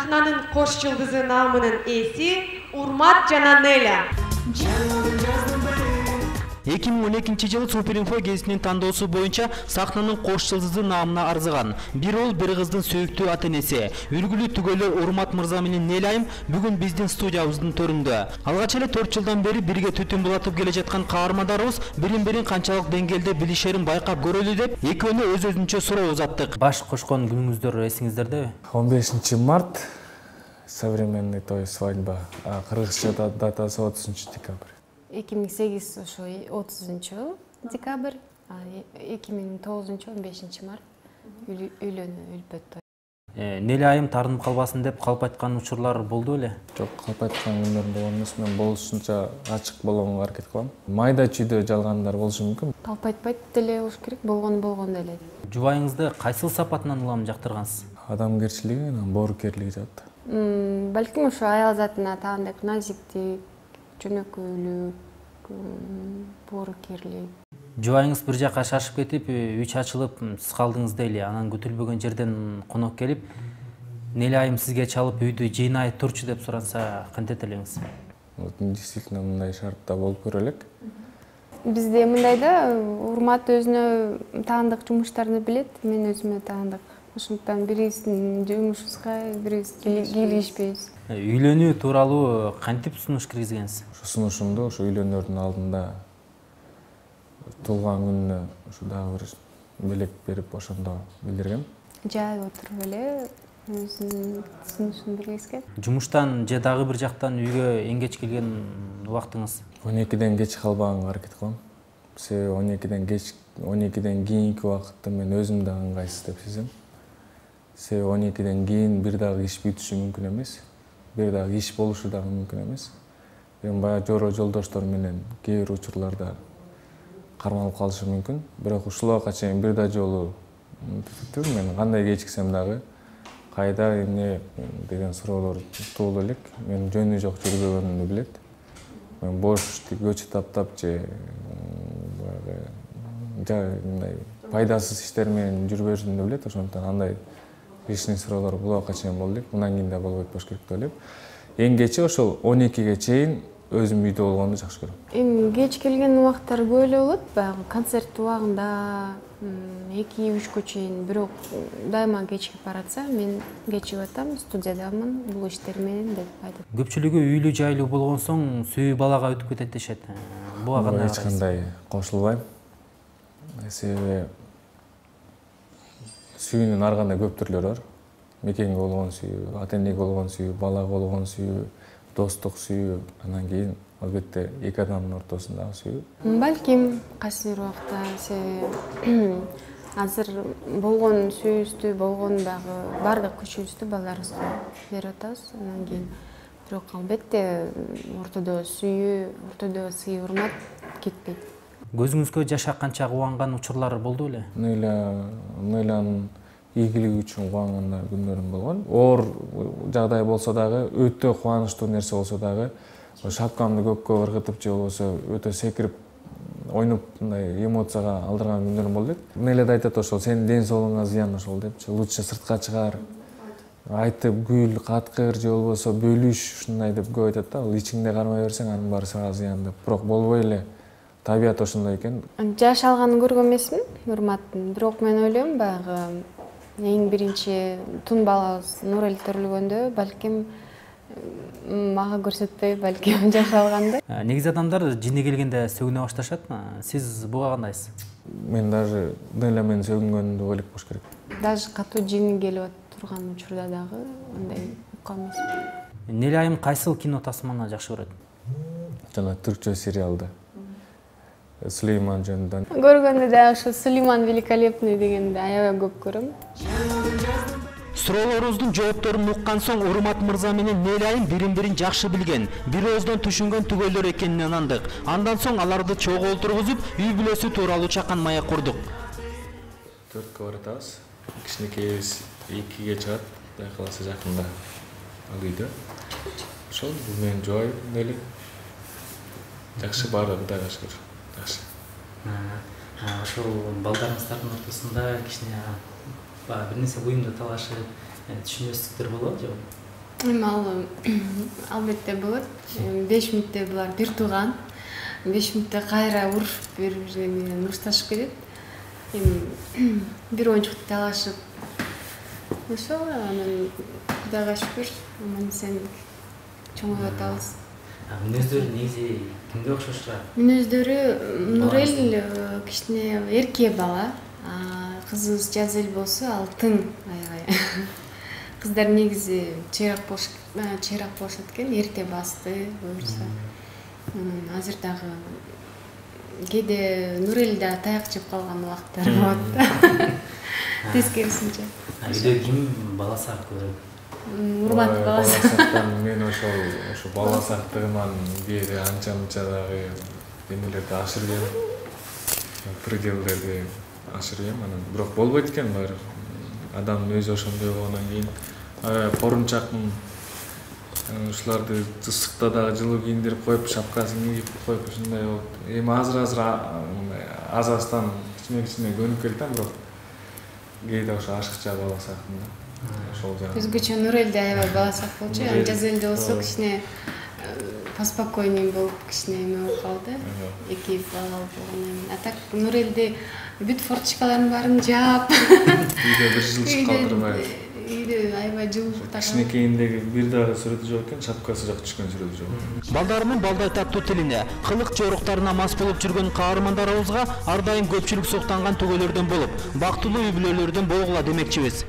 сахнанын кош жылдызы наамынын ээси Урмат жана Неля. 2012-жылы Суперинфо гезитинин тандоосу боюнча сахнанын кош жылдызы наамына арзыган бир уул бир кыздын сүйүктүү ата-энеси үлгүлүү түгөлөр Урмат мырза менен Неляйым бүгүн биздин студиябыздын төрүндө. Алгач эле 4 жылдан бери бирге түтүн булатып келе жаткан каармандарыбыз бирин-бирин канчалык деңгээлде билишерин байкап көрөлү деп экөөнө өз-өзүнчө суроо узаттык. Баш кошкон күнүңүздөр эсиңиздердеби? 15 март современный той свадьба, а кыргызча датасы 30 декабрь. 2008 ошо 30 декабрь, 2009 15 март үлпөт той. Неляйым таарынып калбасын деп калп айткан учурлар болду беле? Жок, калп айткан күндөр болгон эмес, мен болушунча ачык болгонго аракет кылам. Майда чүйдө жалгандар болушу мүмкүн. Калп айтпайт деле болуш керек, болгон эле. Жубайыңызды кайсыл сапатынан улам жактыргансыз? Адамгерчилиги, боорукерлиги жат. Балким ошо аял затына таандык назиктик, жөнөкөйлүк, боорукерлик. Жубайыңыз бир жакка шашып кетип, үч ачылып, сиз калдыңыз дейли. Анан күтүлбөгөн жерден конок келип, Неляйым сизге чалып үйдү жыйнай турчу деп суранса, кантет элеңиз? Действительно мындай шартта болуп көрө элек. Бизде мындай да, Урмат өзүнө таандык жумуштарды билет, мен өзүмө таандык. Ошондуктан бирибиздин жумушубузга бирибиз кийлигишпейбиз. Үйлөнүү тууралуу кантип сунуш киргизгенсиз? Ошо сунушумду ошо үйлөнөрдүн алдында туулган күнүнө ошо дагы бир белек берип ошондо билдиргем. Жайып отуруп эле өзүнүн сунушун билгизген. Жумуштан же дагы бир жактан үйгө эң кеч келген убактыңыз? 12ден кеч калбаганга аракет кылам. Себеби 12ден кийинки убакытты мен өзүм да ыңгайсыз деп сезем. Себеби 12ден кийин бир дагы иш бүтүшү мүмкүн эмес. Бир дагы иш болушу дагы мүмкүн эмес. Мен баягы жоро жолдоштор менен кээ бир учурларда кармалып калышы мүмкүн. Бирок ушул убакка чейин бир да жолу мен кандай кечиксем дагы кайда эмне деген суроолор туулуп элек. Мен жөнү жок жүрбөгөнүмдү билет. Мен бош көчө таптап же мындай пайдасыз иштер менен жүрбөшүмдү билет. Ошондуктан андай лишний суроолор бул убакка чейин болду элек. Мындан кийин да болбойт болуш керек деп ойлойм. Эң кечи ошол 12ге чейин өзүм үйдө болгонду жакшы көрөм. Эми кеч келген убактар көп эле болот, баягы концерт убагында 2-3гө чейин, бирок дайыма кечип баратса, мен кечип атам, студиядамын, бул иштер менен деп айтат. Көпчүлүгү үйлүү жайлуу болгон соң сүйүү балага өтүп кетет дешет. Буга кандай эч кандай кошулбайм. Себеби сүйүүнүн ар кандай көп түрлөрү бар. Мекенге болгон сүйүү, ата-энеге болгон сүйүү, балага болгон сүйүү, достук сүйүү, анан кийин албетте эки адамдын ортосундагы сүйүү. Балким кайсы бир убакта себеби азыр болгон сүйүүбүздү, болгон дагы баардык күчүбүздү балдарыбызга берип атабыз. Анан кийин бирок албетте ортодо сүйүү, ортодо сый урмат кетпейт. Көзүңүзгө жаш акканча кубанган учурлар болду беле? Нейлянын ийгилиги үчүн кубанган күндөрүм болгон. Оор жагдай болсо дагы, өтө кубанычтуу нерсе болсо дагы, шапкамды көккө ыргытып же болбосо өтө секирип, ойноп мындай эмоцияга алдырган күндөрүм болду элек. Неля да айтат ошол, сенин ден соолугуңа зыян ошол депчи. Лучше сыртка чыгар, айтып күл, каткыр же болбосо бөлүш, ушундай деп көп айтат да. Ал ичиңде кармай берсең, анын баары сага зыян деп. Бирок болбой эле. Табият ошондой экен. Жашалганын көргөн эмесмин, Урматтын. Бирок мен ойлойм, баягы эң биринчи тун балабыз Нурел төрүлгөндө, балким мага көрсөтпөй, балким жашалганда. Негизи адамдар жини келгенде сөгүнө башташат. Сиз буга кандайсыз? Мен даже Неля менен сөгүнгөндү ойлоп болуш керек. Даже катуу жини келип турган учурда дагы андай уккан эмесмин. Неляйым кайсыл кино тасманы жакшы көрөт? Жана түркчө сериалды. Сулейман жөнүндө. Көргөндө дагы ошо Сулейман великолепный дегенди аябай көп көрөм. Суроолорубуздун жоопторун уккан соң Урмат мырза менен Неляйым бирин-бирин жакшы билген, бир ооздон түшүнгөн түгөлдөр экенин ынандык. Андан соң аларды чогуу олтургузуп, үй бүлөсү тууралуу чакан маяк курдук. 4кө баратабыз. Кичинекейибиз 2ге чыгат, Кудай кааласа жакында ал үйдө. Ошол менин жубайым Неля. Жакшы баары Кудайга шүгүр. Жакшы. Ошол балдарыңыздардын ортосунда кичине бир нерсе буюмду талашып, түшүнбөстүктөр болот же? Эми ал албетте болот. 5 мүнөттө булар бир тууган. 5 мүнөттө кайра урушуп бири-бири менен урушташып кетет. Эми бир оюнчукту талашып ошо анан Кудайга шүкүр аман эсен чоңоюп атабыз. Мүнөздөрү негизи кимге окшош турат? Мүнөздөрү Нурел кичине эрке бала. Кызыбыз Жазель болсо ал тың аябай. Кыздар негизи чыйрак болушат экен, эрте басты буюрса. Азыр дагы кээде Нурел да таяк жеп калган убакыттары болот. Тескерисинче. Үйдө ким бала сак көрөт? Урмат бала сактан мен ошо бала сактыгынан кээде анча-мынча дагы эмелерди ашыргем. Пределдерди ашыргем, анан бирок болбойт экен баары. Адамдын өзү ошондой болгондон кийин корунчакмын. Ушуларды ысыкта дагы жылуу кийиндирип коюп, шапкасын кийип коюп ушундай болуп. Эми азыр азастан кичине көнүп келдим, бирок кээде ошо ашыкча бала сактын да. Ошол жагы. Өзгөчө Нурел да аябай бала сак болчу. Жазель болсо кичине поспокойнее болуп, кичине эме болуп калды. Эки бала болгондон. А так Нурелди бүт форточкаларын баарын жаап. Үйдө бир жылчык калтырбай. Үйдө аябай жылуулукта. Кичинекейиндеги бир дагы сүрөтү жок экен, шапкасы жок түшкөн сүрөтү жок. Балдарынын балдай таттуу тилине, кылык жоруктарына мас болуп жүргөн каармандарыбызга ар дайым көпчүлүк суктанган түгөлөрдөн болуп, бактылуу үй бүлөлөрдөн болгула демекчибиз.